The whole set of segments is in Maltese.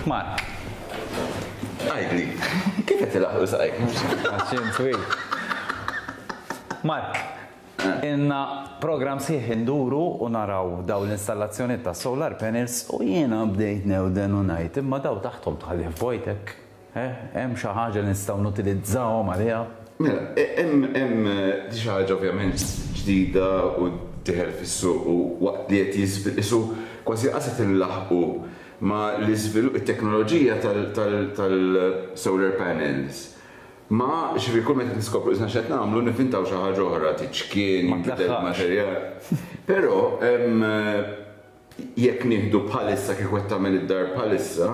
Mark. Għidli, kif qed ilaħħqu saqajk? Għax int twil. Mark, ilna programm sħiħ induru u naraw dawn l-installazzjonijiet ta' solar panels u jiena bdejt newden u ngħid imma dawn taħthom tħallih vojt hekk. Eh, hemm xi ħaġa li nistgħu nutilizzawhom għaliha? Mela, hemm hemm di xi ħaġa ovvjament ġdida u dieħel fis-suq u waqt li qed jiżvi qisu kważi qas qed inlaħħqu ma' l-iżvilupp it-teknoloġija tal-solar panels ma ġifieri kull meta niskopru qisna x'qed nagħmlu nivvintaw xi ħaġa oħra, tiċkien, jinbidel il-materjal. Però jekk nieħdu bħalissa kieku qed tagħmel id-dar bħalissa,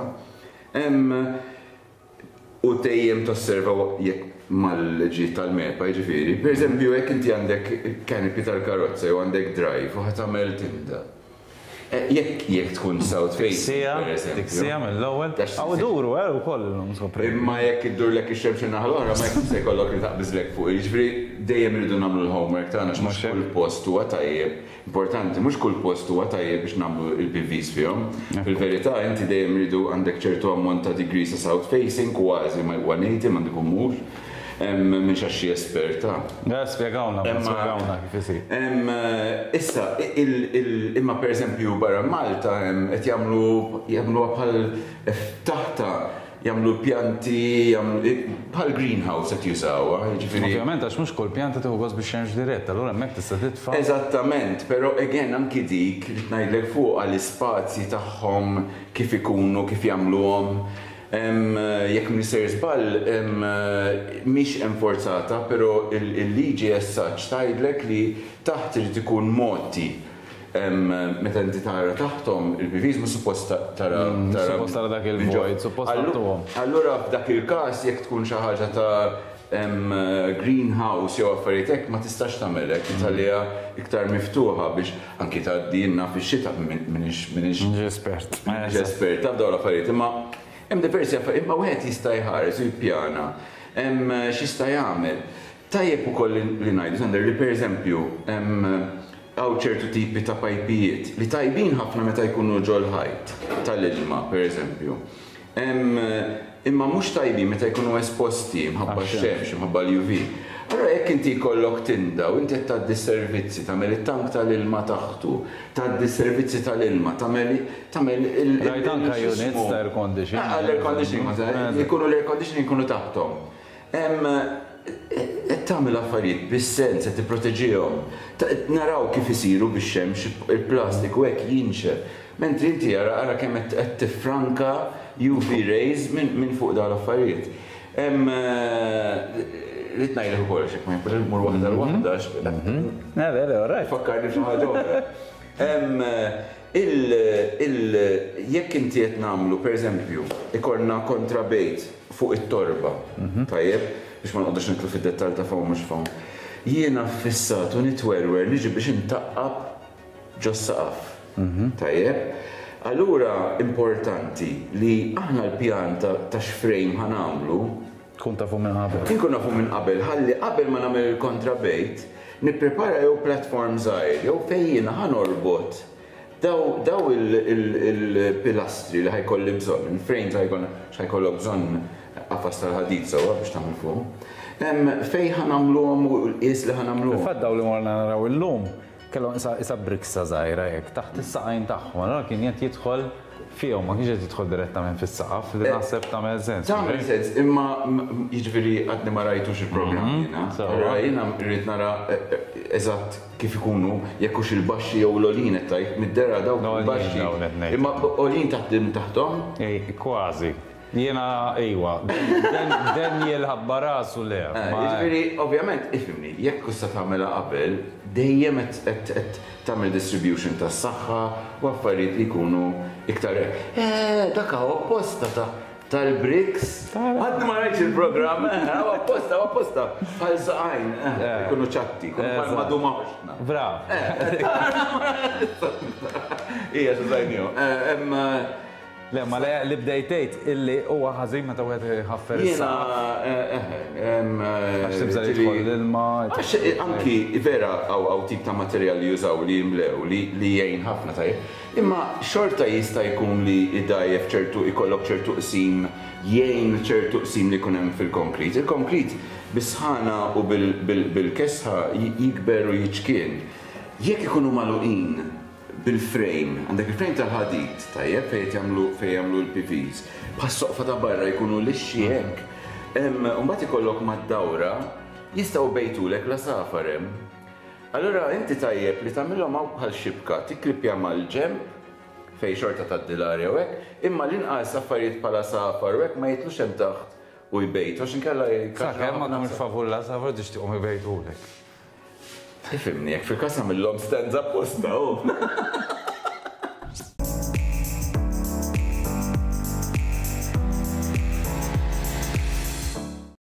u dejjem tosserva jekk mal-liġijiet tal-MEPA jiġifieri, pereżempju jekk inti għandek canopy tal-karozza jew għandek drive u ħa tagħmel tinda. Jekk jekk tkun south facing, pereżempju. Tiksija mill-ewwel. Hawn iduru eh ukoll illum skoprejt. Imma jekk iddurlek ix-xemx in-naħa l-oħra ma jkunx se jkollok li taqbiżlek fuq. Jiġifieri dejjem irridu nagħmlu l-homework tagħna għax mhux kull post huwa tajjeb. Importanti, mhux kull post huwa tajjeb biex nagħmlu l-PVs fihom. Fil-verità inti dejjem iridu għandek ċertu ammont ta' degrees ta' south facing, kważi ma 180 m'għandu jkun mhux. M'iniex għax xi espert, ha. Le, spjegawna, spjegawna kif isir. Issa, imma pereżempju barra Malta qed jagħmlu jagħmluha bħal taħtha jagħmlu pjanti, bħal greenhouse qed jużawha, jiġifieri. Ovvjament għax mhux kull pjanta tieħu gost bix-xemx dirett, allura hemmhekk tista' titfa'. Eżattament, però again anki dik li ngħidlek fuqha l-ispazji tagħhom kif ikunu, kif jagħmluhom. Jekk m'iniex sejjer żball, mhix enforzata, però il-liġi as such tgħidlek li taħt irid ikun mgħotti. Meta inti tara taħthom il-PVs mhux suppost tara. Suppost tara dak il-vojt, suppost tgħattuhom. Allura f'dak il-każ jekk tkun xi ħaġa ta' greenhouse jew affarijiet hekk ma tistax tagħmel hekk, tħalliha iktar miftuħa biex anki tgħaddi naf ix-xita m'iniex m'iniex espert. M'iniex espert ta' f'dawn l-affarijiet, imma hemm diversi affarijiet, imma wieħed jista' jħares u jippjana x'jista' jagħmel. Tajjeb ukoll li ngħidu Sander li pereżempju hawn ċertu tipi ta' pajpijiet li tajbin ħafna meta jkunu ġol-ħajt tal-ilma pereżempju. Imma mhux tajbin meta jkunu esposti mħabba x-xemx, mħabba l-UV. Allura jekk inti jkollok tinda u inti qed tgħaddi s-servizzi, tagħmel it-tank tal-ilma taħtu, tgħaddi s-servizzi tal-ilma, tagħmel tagħmel il. Rajt anke units ta' air conditioning. Għall-air conditioning, ikunu l-air conditioning ikunu taħthom. Qed tagħmel affarijiet bis-sens, qed tipproteġihom. Naraw kif isiru bix-xemx, il-plastik u hekk jinxef. Mentri inti ara ara kemm qed tiffranka UV rays minn fuq dawn l-affarijiet. Ridt ngħidlek ukoll għax jekk ma jkunx immur waħda l waħda għax. Le, le, le, all right. Fakkarni f'xi ħaġa oħra. Jekk inti qed nagħmlu, pereżempju, ikollna kontrabejt fuq it-torba, tajjeb, biex ma noqogħdux nidħlu fid-dettall ta' foam mhux foam, jiena ffissat u nitwerwer niġi biex intaqqab ġos-saqaf. Tajjeb? Allura importanti li aħna l-pjan ta' x'frame ħa nagħmlu. Tkun tafu minn qabel. Inkun nafu minn qabel ħalli qabel ma nagħmel il-kontrabejt nipprepara jew platform żgħir jew fejn jiena ħa norbot daw daw il-pilastri li ħa jkolli bżonn, il-frames li ħa jkollna, għax ħa jkollok bżonn qafas tal-ħadid sewwa biex tagħmel fuqhom, fejn ħa nagħmluhom u l-qies li ħa nagħmluhom. Fil-fatt dawn li morna naraw illum Kellhom qisha qisha briksa żgħira hekk taħt is-saqajn tagħhom, allura kien qed jidħol fihom, ma kienx qed jidħol direttament fis-saqaf, li naħseb tagħmel sens. Tagħmel sens, imma jiġifieri għadni ma rajtux il-programm jiena. Allura jiena rrid nara eżatt kif ikunu, jekk hux il-baxxi jew l-għoljin qed tgħid, mid-dehra dawk il-baxxi. Imma għoljin taħt taħthom? Kważi. Jiena iwa. Daniel ħabba rasu le. Jiġifieri, ovvjament, ifhimni, jekk issa tagħmilha qabel, dejjem qed tagħmel distribution tas-saħħa u affarijiet li jkunu iktar. Eh, dak hawn apposta ta' tal-bricks. Għadni ma rajtx il-programm, eh, hawn apposta, hawn apposta. Bħal saqajn, eh, ikunu ċatti, ikunu bħal maduma ħoxna. Brav. Ija, x'użajnihom. Le, ma le li bdejt tgħid illi huwa ħażin meta wieħed iħaffer is-saqaf. Jiena, eħe. Għax tibża' li jidħol l-ilma. Għax anki vera hawn tip ta' materjal li jużaw li jimlew li jgħin ħafna tajjeb. Imma xorta jista' jkun li jdgħajjef ċertu jkollok ċertu qsim jgħin ċertu qsim li jkun hemm fil-konkrit. Il-konkrit bis-sħana u bil-kesħa jikber u jiċkien. Jekk ikunu magħluqin bil-frame, għandek il-frame tal-ħadid, tajjeb, fejn qed jagħmlu fejn jagħmlu l-PVs, bħas-soqfa ta' barra jkunu lixxi hekk. U mbagħad ikollok mad-dawra, jistgħu jbejtulek l-għasafar hemm. Allura inti tajjeb li tagħmilhom hawn bħal xibka, tikklippja mal-ġenb fejn xorta tgħaddi l-arja u hekk, imma l-inqas affarijiet bħal għasafar u hekk ma jitlux hemm taħt u jbejtu għax inkella jikkaġunaw. Sakemm ma tkunx favur l-għasafar tixtieqhom ibejtulek. Ifhimni, jekk fil-każ nagħmilhom stands apposta, hu.